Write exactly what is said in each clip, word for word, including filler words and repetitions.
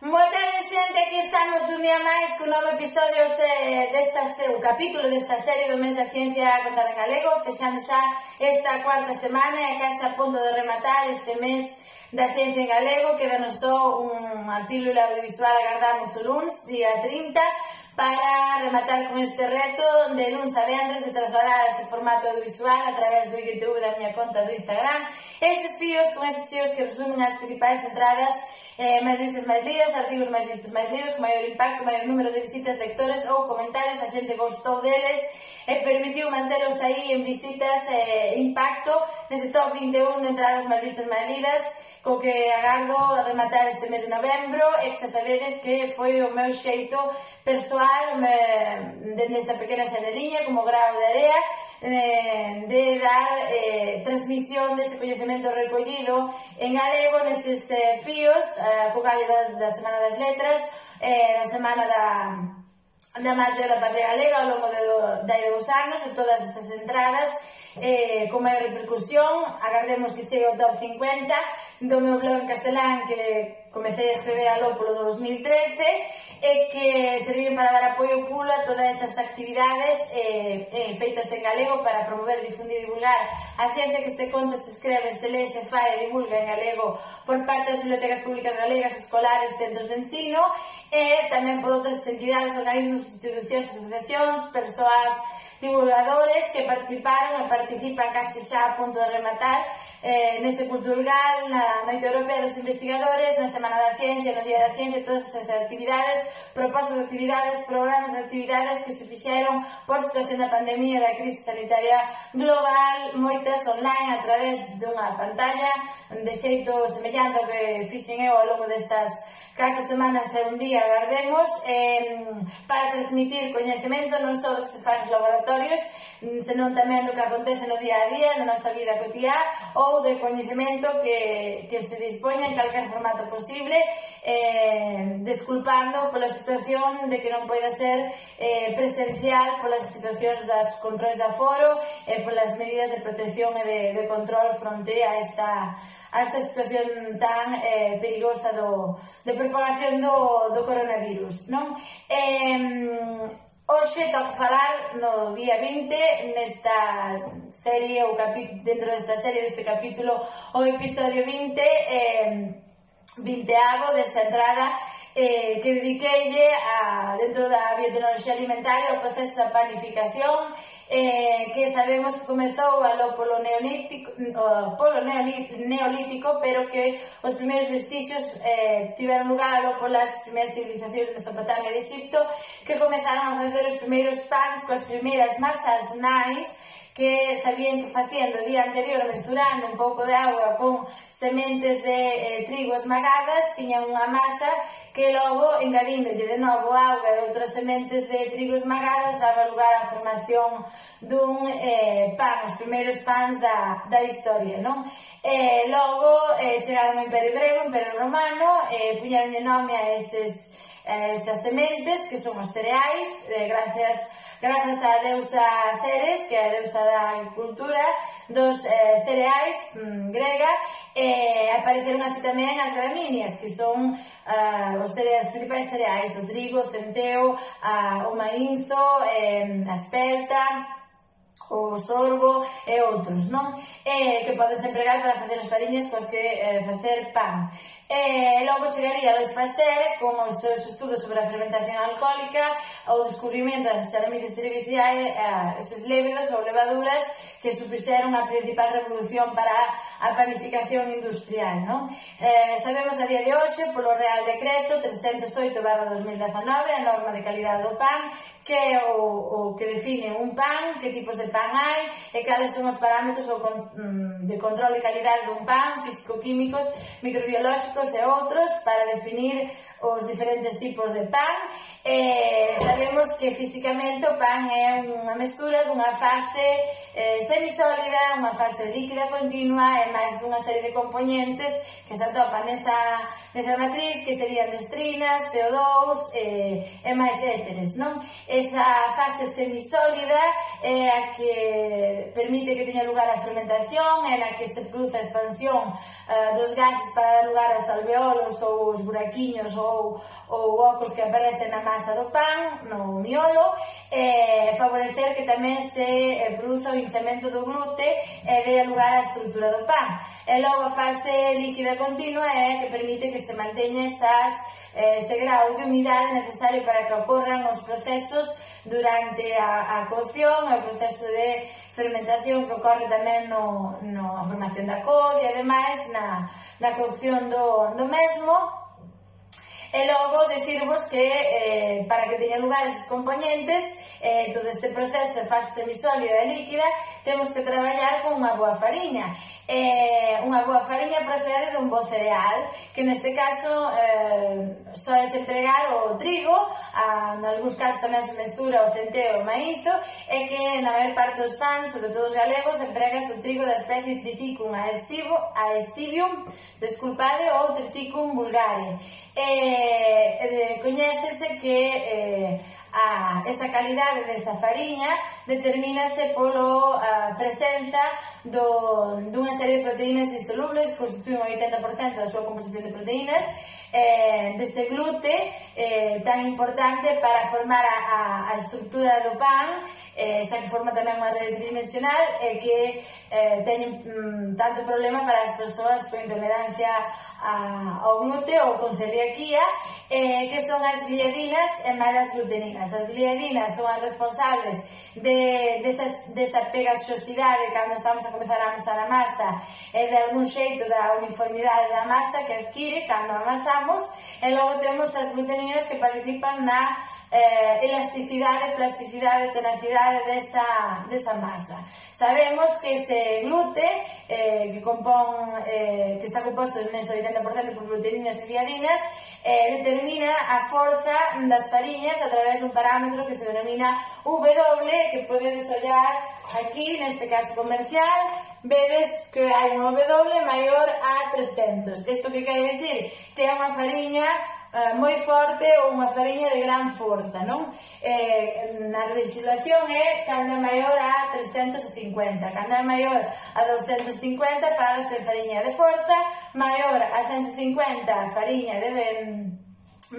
Boa tarde, xente, aquí estamos un día máis cun novo episodio desta, o capítulo desta serie do mes da ciencia contada en galego, fexando xa esta cuarta semana e case a punto de rematar este mes da ciencia en galego. Quédanos só unha pílula audiovisual, agardamos o luns, día trinta, para rematar con este reto de luns a venres de trasladar este formato audiovisual a través do YouTube da miña conta do Instagram. Estes fíos con eses chíos que resumen as principais entradas eh, máis vistas, máis lidas, artigos máis vistos, máis lidos, con maior impacto, maior número de visitas, lectores ou comentarios. A xente gostou deles e permitiu mantelos aí en visitas e eh, impacto nese top vinte e un de entradas máis vistas, máis lidas, co que agardo a rematar este mes de novembro. E que xa sabedes que foi o meu xeito persoal me, dende esta pequena xaneliña como grao de area eh, de dar eh, transmisión dese coñecemento recollido en galego neses eh, fíos, a co gallo da, da Semana das Letras, eh, da Semana da da Madre da Patria Galega ao longo de, do, de dous anos, de todas esas entradas eh, con maior repercusión. Agardemos que chegue o top cincuenta do meu blog en castelán, que comecei a escrever aló polo dos mil trece, e que serviron para dar apoio pulo a todas esas actividades eh, eh, feitas en galego para promover, difundir e divulgar a ciencia que se conta, se escreve, se lee, se fai e divulga en galego por parte das bibliotecas públicas galegas, escolares, centros de ensino, e tamén por outras entidades, organismos, institucións, asociacións, persoas, divulgadores que participaron e participan case xa a punto de rematar eh, nese Culturgal, na Noite Europea dos Investigadores, na Semana da Ciencia, no Día da Ciencia, todas esas actividades, propostas de actividades, programas de actividades que se fixeron por situación da pandemia e da crise sanitaria global, moitas online a través dunha pantalla, de xeito semellante ao que fixen eu ao longo destas catro semanas e un día, agardemos, eh, para transmitir coñecemento non só do que se fai nos laboratorios, senón tamén do que acontece no día a día, na nosa vida cotiá, ou de coñecemento que, que se dispoña en calquer formato posible, eh, desculpando pola situación de que non poida ser eh, presencial, polas situacións das controles de aforo, e polas medidas de protección e de, de control fronte a esta a esta situación tan eh, perigosa do, de propagación do, do coronavirus, non? Eh, hoxe toca falar no día vinte, nesta serie, ou dentro desta serie, deste capítulo, o episodio vinte, eh, vinteavo desa entrada eh, que dediqueille a, dentro da biotecnoloxía alimentaria, ao proceso da panificación, Eh, que sabemos que comezou aló polo neolítico, polo neolítico, pero que os primeiros vestixios eh, tiveron lugar aló polas primeiras civilizacións de Mesopotamia e de Egipto, que comezaron a facer os primeiros pans coas primeiras masas nais, que sabían que facían o día anterior mesturando un pouco de auga con sementes de eh, trigo esmagadas, tiñan unha masa que logo, engadíndolle de novo auga e outras sementes de trigo esmagadas, daba lugar á formación dun eh, pan, os primeiros pans da, da historia, non? E logo eh, chegaron ao Imperio Grego, o Imperio Romano, e eh, puñeronlle nome a eses, a esas sementes, que son os cereais, eh, gracias Grazas á deusa Ceres, que é a deusa da agricultura, dos eh, cereais mm, grega, e apareceron así tamén as gramíneas, que son uh, os, cereais, os principais cereais, o trigo, o centeo, uh, o maínzo, eh, a espelta, o sorgo e outros, non? Eh, que podes empregar para facer as fariñas coas que eh, facer pan. E logo chegaría Alois Pasteur con os seus estudos sobre a fermentación alcohólica, o descubrimento das charomices cerevisiae, eh, eses lévedos ou levaduras que supuxeron a principal revolución para a panificación industrial, non? Eh, sabemos a día de hoxe, polo Real Decreto trescentos oito barra dos mil dezanove, a norma de calidade do pan, que é o, o que define un pan, que tipos de pan hai, e cales son os parámetros o con, de control de calidade dun pan, físico-químicos, microbiolóxicos e outros, para definir os diferentes tipos de pan. E sabemos que físicamente o pan é unha mestura dunha fase eh, semisólida, unha fase líquida continua e máis dunha serie de componentes que se atopan nesa nesa matriz, que serían destrinas, C O dous e, e máis éteres, non? Esa fase semisólida é a que permite que teña lugar a fermentación, é na que se produce a expansión uh, dos gases para dar lugar aos alveolos ou os buraquiños ou, ou ocos que aparecen na masa do pan, no miolo, e favorecer que tamén se eh, produza o hinchamento do glute e dê lugar á estrutura do pan. E logo a fase líquida continua é a que permite que se manteña esas, eh, ese grau de humidade necesario para que ocorran os procesos durante a, a cocción, o proceso de fermentación que ocorre tamén no, no a formación da cod e ademais na, na cocción do, do mesmo. E logo decirvos que eh, para que teñan lugar eses componentes, eh, todo este proceso de fase semisólida e líquida, temos que traballar con unha boa fariña. Eh, unha boa fariña procede dun bo cereal, que neste caso eh, soes empregar o trigo, a, en algúns casos tamén se mestura o centeo e o maízo, e que na maior parte dos pans, sobre todo os galegos, empregas o trigo da especie Triticum aestivo, aestivium, desculpade, ou Triticum vulgare. Eh, eh, coñécese que eh, a, esa calidade desa fariña determínase polo a presenza do, dunha serie de proteínas insolubles que constituen o oitenta por cento da súa composición de proteínas, eh, dese glute eh, tan importante para formar a, a, a estrutura do pan, eh, xa que forma tamén unha rede tridimensional e que eh, teñen mm, tanto problema para as persoas con intolerancia a, ao glute ou con celiaquía, eh, que son as gliadinas e malas gluteninas. As gliadinas son as responsables de, desa, desa pegaxosidade cando estamos a comezar a amasar a masa e de algún xeito da uniformidade da masa que adquire cando amasamos, e logo temos as gluteninas que participan na eh, elasticidade, plasticidade, tenacidade desa, desa masa. Sabemos que ese glute, eh, que, compón, eh, que está composto en ese oitenta por cento por gluteninas e gliadinas, eh, determina a forza das fariñas a través dun parámetro que se denomina W, que podedes ollar aquí, neste caso comercial, vedes que hai un W maior a trescentos. Isto que quere dicir? Que é unha fariña Uh, moi forte ou unha fariña de gran forza, non? Eh, na legislación é cando é maior a trescentos cincuenta, cando é maior a doscentos cincuenta falase de fariña de forza, maior a ciento cincuenta fariña de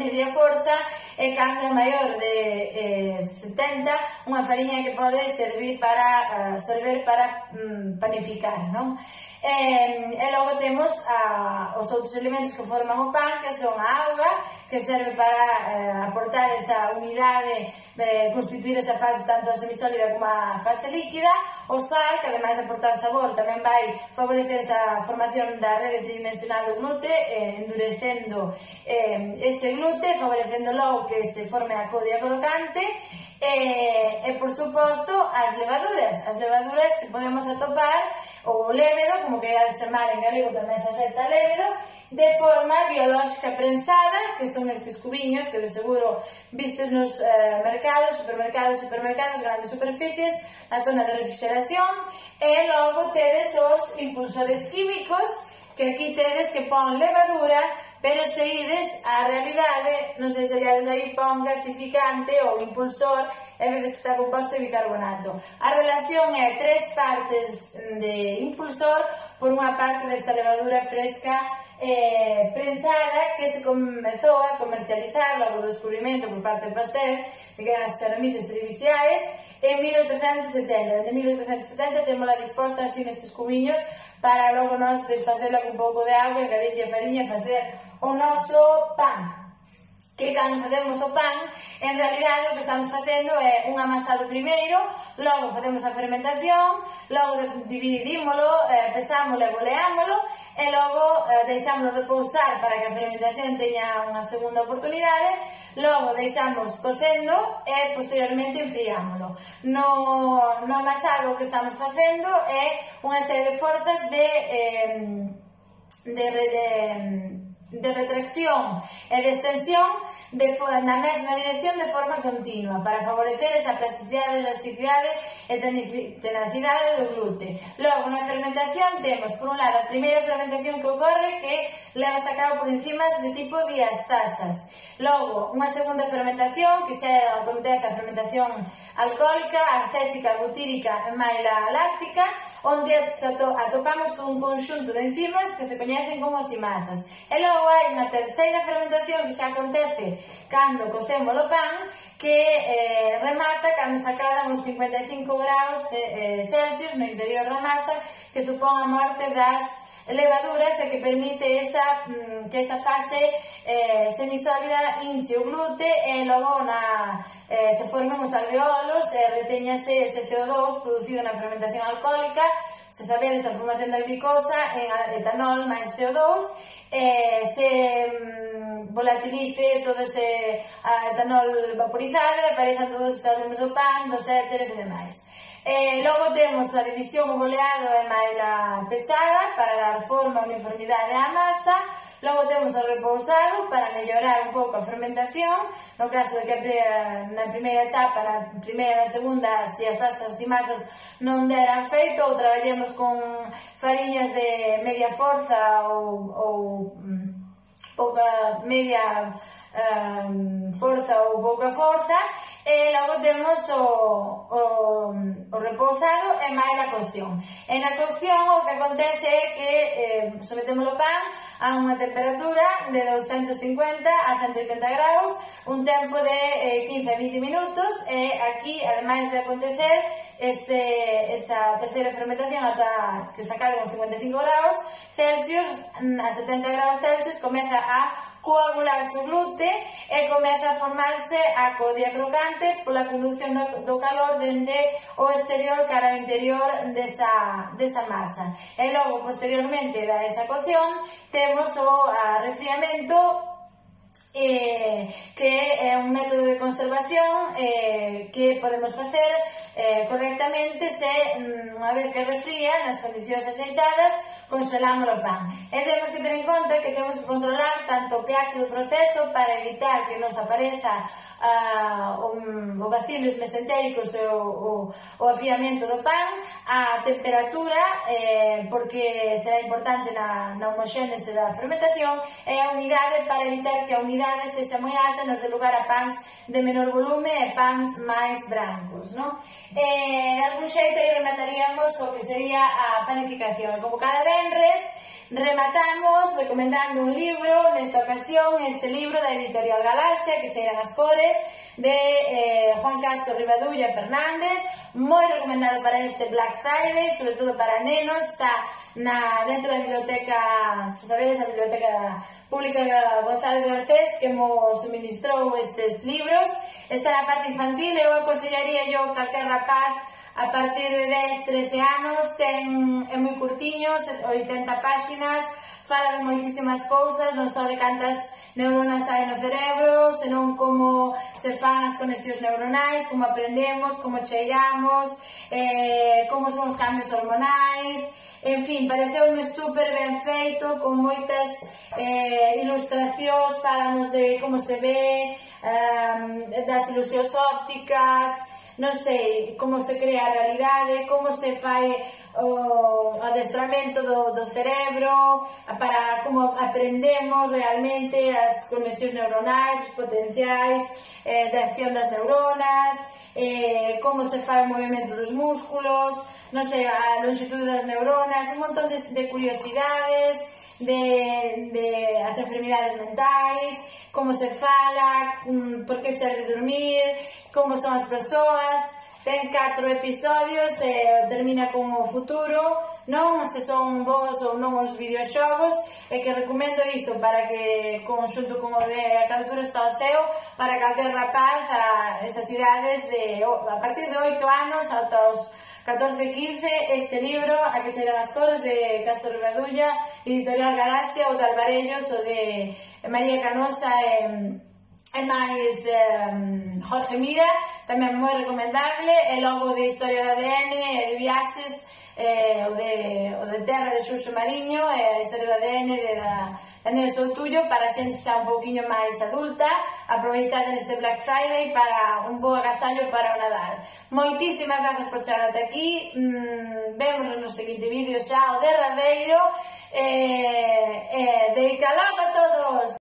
media forza, e cando é maior de eh, setenta, unha fariña que pode servir para uh, servir para um, panificar, non? E, e logo temos a, os outros elementos que forman o pan, que son a auga, que serve para eh, aportar esa unidade, eh, constituir esa fase tanto a semisólida como a fase líquida, o sal, que ademais de aportar sabor tamén vai favorecer esa formación da rede tridimensional do glute, eh, endurecendo eh, ese glute, favorecendo logo que se forme a codia crocante. E, e por suposto as levaduras, as levaduras que podemos atopar, ou o lévedo, como que é de chamar en galego, tamén se acepta lévedo, de forma biolóxica prensada, que son estes cubiños que de seguro vistes nos eh, mercados, supermercados, supermercados, grandes superficies, na zona de refrigeración, e logo tedes os impulsores químicos, que aquí tedes que pon levadura, pero se ides á realidade, non sei se allades aí, pon gasificante ou impulsor, e vedes que está composto de bicarbonato. A relación é tres partes de impulsor por unha parte desta levadura fresca eh, prensada que se comezou a comercializar logo do descubrimento por parte de Pasteur de que eran as xeramices triviciais en mil oitocentos setenta. Desde mil oitocentos setenta temos la disposta así nestes cubiños para logo nos desfacela con un pouco de auga, engadirlle a fariña e facer o noso pan. Que cando facemos o pan, en realidade o que estamos facendo é un amasado primeiro, logo facemos a fermentación, logo dividímolo, eh, pesámolo e boleámolo, e logo eh, deixámoslo repousar para que a fermentación teña unha segunda oportunidade, logo deixamos cocendo e posteriormente enfriámolo. No, no amasado o que estamos facendo é unha serie de forzas de, eh, de, de de retracción e de extensión de, na mesma dirección de forma continua para favorecer esa plasticidade, elasticidade e tenacidade do glute. Logo, na fermentación temos, por un lado, a primeira fermentación que ocorre que levas a cabo por enzimas de tipo diastasas. Logo, unha segunda fermentación que xa acontece a fermentación alcohólica, acética, butírica e maila láctica, onde atopamos todo un conxunto de enzimas que se coñecen como cimasas. E logo hai unha terceira fermentación que xa acontece cando cocemos o pan, que eh, remata cando se acadan os cincuenta e cinco graus eh, Celsius no interior da masa, que supón a morte das levaduras e que permite esa, que esa fase eh, semisólida hinche o glute e logo na, eh, se formen os alveolos e reteñase ese C O dos producido na fermentación alcohólica. Se sabedes a formación da glicosa en etanol máis C O dos, eh, se mm, volatilice todo ese etanol vaporizado e aparezan todos os aromas do pan, dos éteres e demais. Eh, logo temos a división o boleado e maila pesada para dar forma e uniformidade á masa. Logo temos o repousado para mellorar un pouco a fermentación, no caso de que na primeira etapa, na primeira e na segunda, as diastasas dimasas non deran feito, ou traballemos con fariñas de media forza ou, ou pouca media um, forza ou pouca forza. E logo temos o, o, o repousado e máis a cocción. E na cocción o que acontece é que eh, sometemos o pan a unha temperatura de doscientos cincuenta a ciento oitenta graus, un tempo de eh, quince a vinte minutos, e aquí, ademais de acontecer ese, esa terceira fermentación ata que se acabe con cincuenta e cinco graus Celsius, a setenta graus Celsius, comeza a coagularse o glute e comeza a formarse a codia crocante pola conducción do, do calor dende o exterior cara ao interior desa, desa masa. E logo, posteriormente da esa cocción, temos o arrefriamento, eh, que é un método de conservación eh, que podemos facer eh, correctamente se, unha vez que refría, nas condicións axeitadas, congelamos o pan. E temos que ter en conta que temos que controlar tanto o pH do proceso para evitar que nos apareza uh, o, o bacilos mesentéricos e o, o, o afiamento do pan, a temperatura, eh, porque será importante na, na homoxénese da fermentación, e a umidade para evitar que a umidade sexa moi alta, nos dé lugar a pans de menor volume e pans máis brancos, non? Eh, de algún xeito aí remataríamos o que sería a panificación. Como cada venres, rematamos recomendando un libro, nesta ocasión este libro da editorial Galaxia, que cheiran as cores, de eh, Juan Castro Rivadulla Fernández, moi recomendado para este Black Friday, sobre todo para nenos. Está na, dentro da biblioteca, se sabedes, a biblioteca pública González Garcés, que nos suministrou estes libros. Está na parte infantil, eu aconsellaría yo calquer rapaz a partir de dez, trece anos, ten, é moi curtiño, oitenta páxinas, fala de moitísimas cousas, non só de cantas neuronas hai no cerebro, senón como se fan as conexións neuronais, como aprendemos, como cheiramos, eh, como son os cambios hormonais. En fin, pareceume super ben feito, con moitas eh, ilustracións, falanos de como se ve, um, das ilusións ópticas, non sei, como se crea a realidade, como se fai o adestramento do, do cerebro, para como aprendemos realmente as conexións neuronais, os potenciais eh, de acción das neuronas, eh, como se fai o movimento dos músculos, non sei, a longitude das neuronas, un montón de, de curiosidades, de, de as enfermidades mentais, como se fala, por que serve dormir, como son as persoas. Ten catro episodios e termina con o futuro, non se son bons ou non os videoxogos, e que recomendo iso para que, conxunto con o de A Caltura está o ceo, para calquer rapaz a esas idades de, a partir de oito anos ata os catorce, quince, este libro, A que cheiran as cores, de Castro Rivadulla, editorial Galaxia, o de Alvarellos, o de María Canosa e, e máis um, Jorge Mira, tamén moi recomendable. E logo de Historia da A D N e de viaxes, eh, o, de, o de Terra de Xurxo Mariño e a historia do A D N de da Daniela Soutullo para xente xa un pouquiño máis adulta. Aproveitade neste Black Friday para un bo agasallo para o Nadal. Moitísimas grazas por chegar ata aquí. Mm, vémonos no seguinte vídeo xa, o derradeiro. Eh, eh, de calor a todos!